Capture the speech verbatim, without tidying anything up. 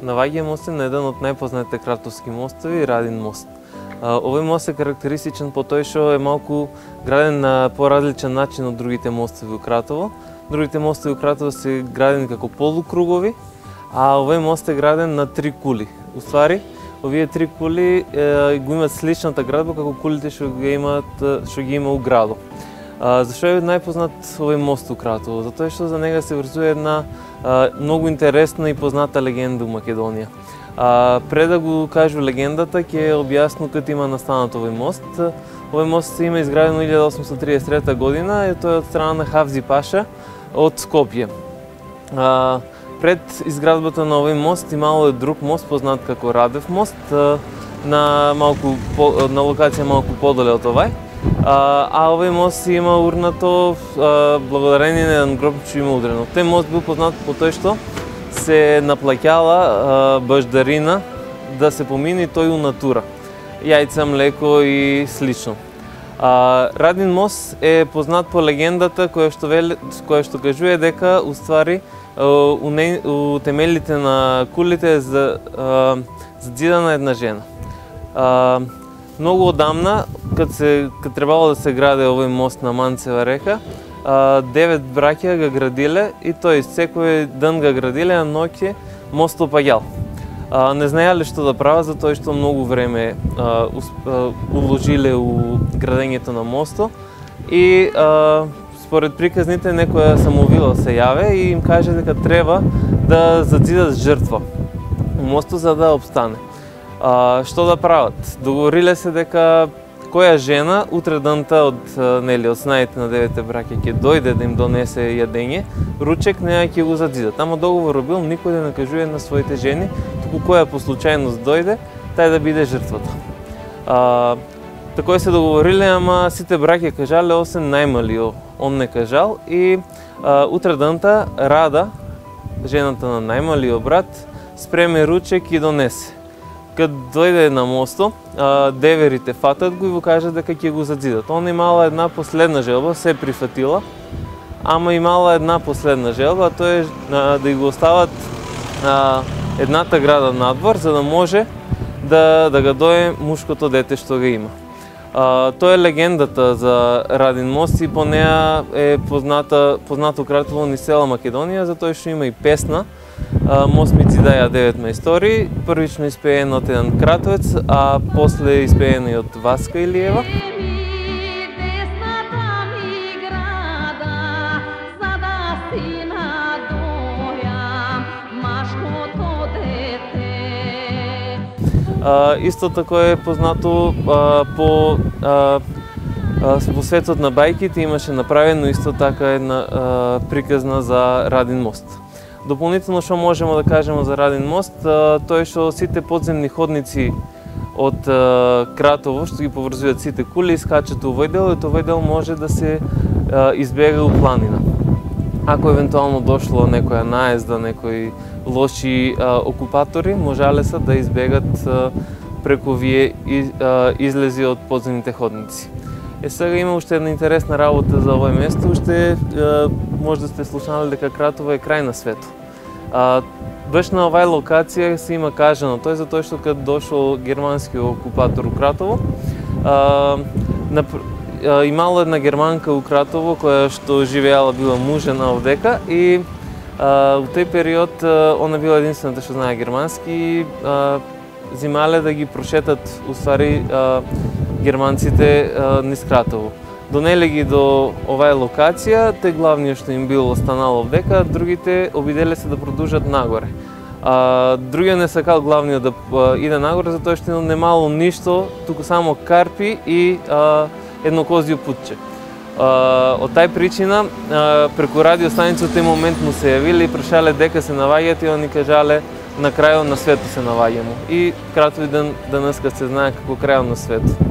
Наоѓаме се на еден од најпознатите кратовски мостови, Радин мост. Овој мост е карактеристичен по тој што е малку граден на поразличен начин од другите мостови у Кратово. Другите мостови у Кратово се градени како полукругови, а овој мост е граден на три кули. Уствари, овие три кули е, го имаат сличната градба како кулите што ги имаат што ги има у градот. Зашто е најпознат овој мост у Кратово? Затоа што за него се врзува една а, многу интересна и позната легенда у Македонија. А, пред да го кажу легендата, ќе објасну како има настанат овој мост. Овој мост има изграден во илјада осумстотини триесет и трета година и тој е од страна на Хавзи Паша од Скопје. А, пред изградбата на овој мост имало е друг мост познат како Радев мост а, на малку на локација малку подале од овај. А, а овој мост има урнато а, благодарение на еден гроб што има удрено. Тој мост бил познат по тој што се наплаќала баждарина да се помине тој у натура. Јајца, млеко и слично. А, Радин мост е познат по легендата која што вели, која што кажува дека уствари у, не, у темелите на кулите е за задзидана една жена. А, Многу одамна, кад се кад требало да се граде овој мост на Манцева река, девет браќа го градиле и тој секој ден го градиле, а ноќе мостот паѓал. Не знаеле што да прават затоа што многу време а, а, уложиле у градењето на мостот и а, според приказните некоја самоувила се јаве и им каже дека треба да задзидат жртва у мостот за да обстане. А, што да прават? Договориле се дека која жена утре данта од нели од снаите на девете браќа ќе дојде да им донесе јадење, ручек неа ќе го задзидат. Ама договорот бил никој да не кажува на своите жени, туку која по случајност дојде, тај да биде жртвата. А, такој се договориле, ама сите браќа кажале освен најмалиот, он не кажал и а, утре данта Рада, жената на најмалиот брат, спреме ручек и донесе. Кад дојде на мостот, деверите фатат го и го кажат дека ќе го задзидат. Он имала една последна желба, се прифатила, ама имала една последна желба, а тоа е да го остават едната града надвор, за да може да, да го дое мушкото дете што го има. Тоа е легендата за Радин мост и по неа е позната, познато Кратово низ цела Македонија, затоа што има и песна, Мост ми ти даја девет мајстори, првично испеен од еден кратовец, а после испеен и од Васка Илиева. А, исто тако е познато а, по а, а, во светот на бајките имаше направено исто така една а, приказна за Радин мост. Дополнително што можеме да кажеме за Радин мост, тоа е што сите подземни ходници од Кратово, што ги поврзуваат сите кули, искачат у овој дел и овој дел може да се избега у планина. Ако евентуално дошло некоја наезда, некои лоши окупатори, можале се да избегат преку овие излези од подземните ходници. Е, сега има уште една интересна работа за овој место, уште може да сте слушнали дека Кратово е крај на светот. Баш на овај локација се има кажано, тој затоа што кад дошол германскиот окупатор у Кратово, а, на, а, имало една германка у Кратово која што живеала била мужена овдека и а, у тој период а, она била единствената што знае германски и а, зимале да ги прошетат уствари а, германците а, низ Кратово. Донеле ги до оваа локација, тој главниот што им бил останал овдека, другите обиделе се да продолжат нагоре. А, другиот не сакал главниот да а, иде нагоре затоа што немало ништо, туку само карпи и а, едно козјо путче. А, од тај причина а, преку радио станица тој момент му се јавиле и прашале дека се наваѓаат и они кажале на крајот на светот се наваѓамо. И Кратово ден денеска се знае како крајот на светот.